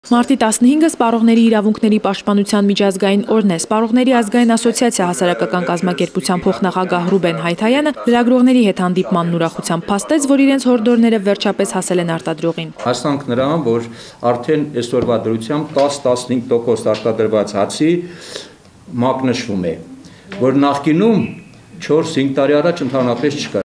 Մարտի 15-ը Սպառողների իրավունքների պաշտպանության միջազգային օրն է։ Սպառողների ազգային ասոցիացիա հասարակական կազմակերպության փոխնախագահ Ռուբեն Հայթայանը լրագրողների հետ հանդիպմանն ուրախությամբ փաստեց, որ իրենց հորդորները վերջապես հասել են արտադրողին։ Հասանք նրան, որ արդեն այսօրվա դրությամբ 10-15% արտադրված հացի մակնշվում է, որ նախկինում 4-5 տարի առաջ ընդհանրապես չկար։